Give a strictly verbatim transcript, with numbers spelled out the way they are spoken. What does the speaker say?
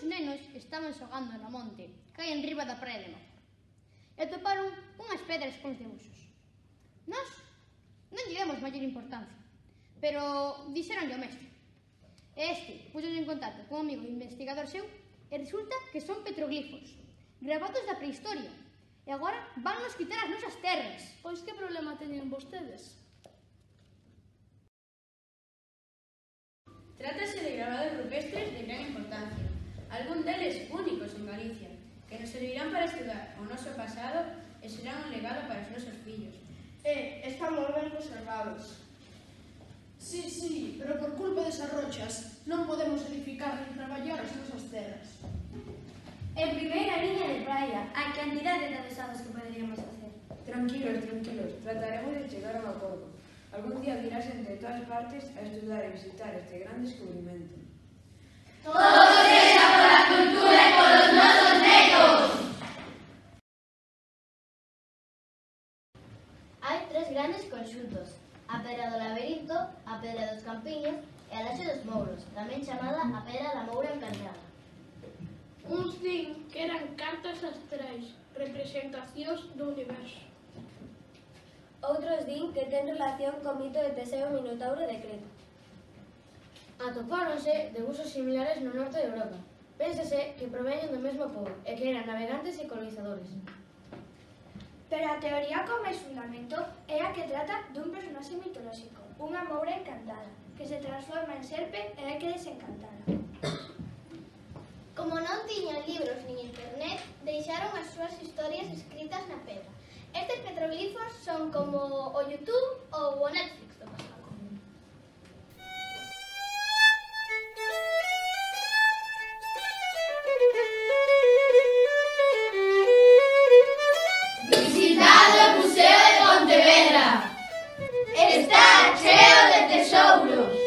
uns nenos estaban xogando no monte, que hai enriba da praia de Mazor, e toparon unhas pedras con debuxos. Nós non lle demos maior importancia, pero dixeronlle ao mestre. E este puxose en contacto con un amigo investigador seu e resulta que son petroglifos, gravados da prehistoria, e agora van nos quitar as nosas terras. Pois que problema teñen vostedes? Trátase de grabados rupestres de gran importancia, algún deles únicos en Galicia, que nos servirán para estudar o noso pasado e serán un legado para os nosos fillos. E están moi ben conservados. Sí, sí, pero por culpa desas rochas non podemos edificar nin traballar as nosas terras. En primeira liña de praia, a cantidade de adesados que poderíamos facer. Tranquilos, tranquilos, trataremos de chegar a un acordo. Algún día virás entre todas partes a estudar e visitar este gran descubrimento. Todo sexa pola cultura e polos nosos netos! Hai tres grandes conxuntos, a Pedra do Laberinto, a Pedra dos Campiños e a Laxe dos Mouros, tamén chamada a Pedra da Moura Encantada. Uns din que eran cartas astrais, representacións do universo. Outros din que ten relación co mito de Teseo e Minotauro de Creta. Atopáronse debuxos similares no norte de Europa. Pénsase que proveñen do mesmo pobo e que eran navegantes e colonizadores. Pero a teoría con máis fundamento é a que trata dun personaxe mitolóxico, unha moura encantada, que se transforma en serpe e hai que desencantala. Como non tiñan libros nin internet, deixaron as súas historias escritas na pedra. Estes petroglifos son como o YouTube ou o Netflix do pasado. Visitad o Museo de Pontevedra. Está cheo de tesouros.